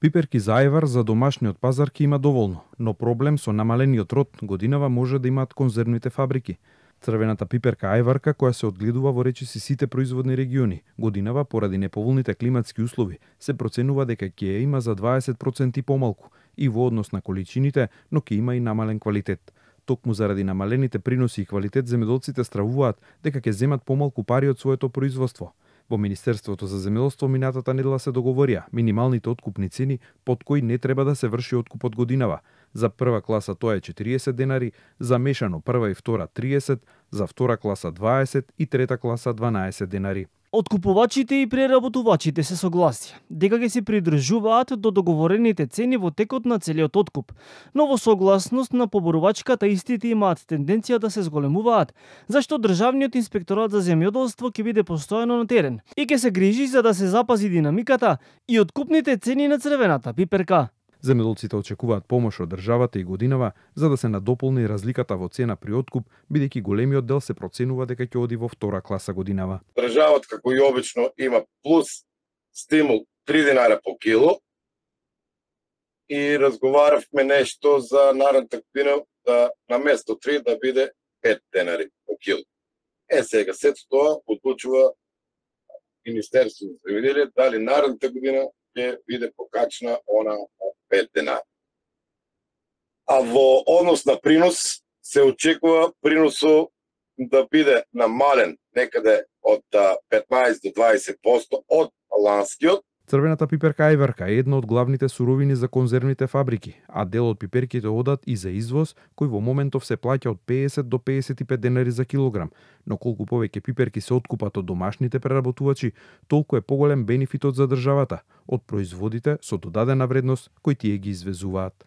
Пиперки за ајвар за домашниот пазар ќе има доволно, но проблем со намалениот род годинава може да имаат конзервните фабрики. Црвената пиперка ајварка, која се одгледува во речиси сите производни региони, годинава поради неповолните климатски услови, се проценува дека ќе ја има за 20% помалку и во однос на количините, но ќе има и намален квалитет. Токму заради намалените приноси и квалитет, земјоделците стравуваат дека ќе земат помалку пари од своето производство. Во Министерството за земјоделство минатата недела се договорија минималните откупни цени под кои не треба да се врши откупот годинава. За прва класа тоа е 40 денари, за мешано прва и втора 30, за втора класа 20 и трета класа 12 денари. Откупувачите и преработувачите се согласија дека ќе се придржуваат до договорените цени во текот на целиот откуп, но во согласност на поборувачката истите имаат тенденција да се зголемуваат, зашто Државниот инспекторат за земјоделство ќе биде постојано на терен и ќе се грижи за да се запази динамиката и откупните цени на црвената пиперка. Земјоделците очекуваат помош од државата и годинава за да се надополни разликата во цена при откуп, бидејќи големиот дел се проценува дека ќе оди во втора класа годинава. Државата, како и обично, има плюс стимул 3 динари по кило и разговаравме нешто за наредната година да на место 3 да биде 5 денари по кило. Сега сето тоа одлучува Министерството за земјоделие дали наредната година ќе биде покачена она 5 денари. А во однос на принос се очекува приносот да биде намален некаде од 15 до 20% од ланскиот. Црвената пиперка ајварка е една од главните суровини за конзервните фабрики, а дел од пиперките одат и за извоз, кој во моментов се плаќа од 50 до 55 денари за килограм. Но колку повеќе пиперки се откупат од домашните преработувачи, толку е поголем бенефитот за државата од производите со додадена вредност кои тие ги извезуваат.